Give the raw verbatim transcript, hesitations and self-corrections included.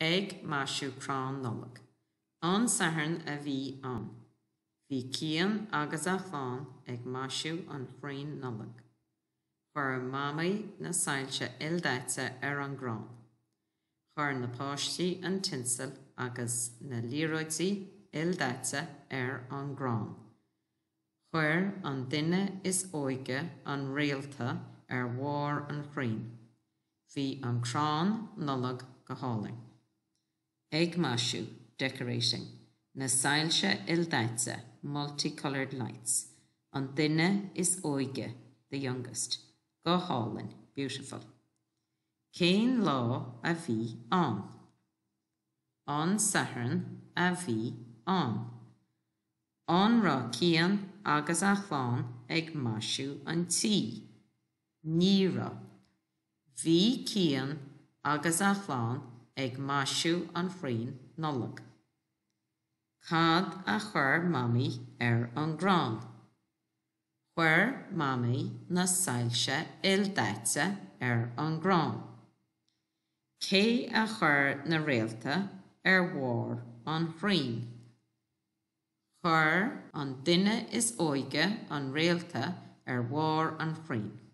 Ag maisiú crann Nollag. An Satharn a bhí ann. Bhí Cian agus a chlann ag maisiú an chrainn Nollag. Chuir Mamaí na soilse ildaite ar an gcrann. Chuir na páistí an tinsel agus na liathróidí ildaite ar an gcrann. Chuir an duine is óige an réalta ar bharr an chrainn. Bhí an crann Nollag go hálainn. Ag maisiú, decorating, na soilse ildaite, multicolored lights, an duine is óige, the youngest, go hálainn, beautiful. Cén lá a bhí ann? An Satharn a bhí ann. An raibh Cian agus a chlann ag maisiú an tí. Ní raibh. Bhí Cian agus a chlann ag maisiú an chrainn Nollag. Cad a chuir Mamaí ar an gcrann? Chuir Mamaí na soilse ildaite ar an gcrann. Cé a chuir na réalta ar bharr an chrainn? Chuir an duine is óige an réalta ar bharr an chrainn.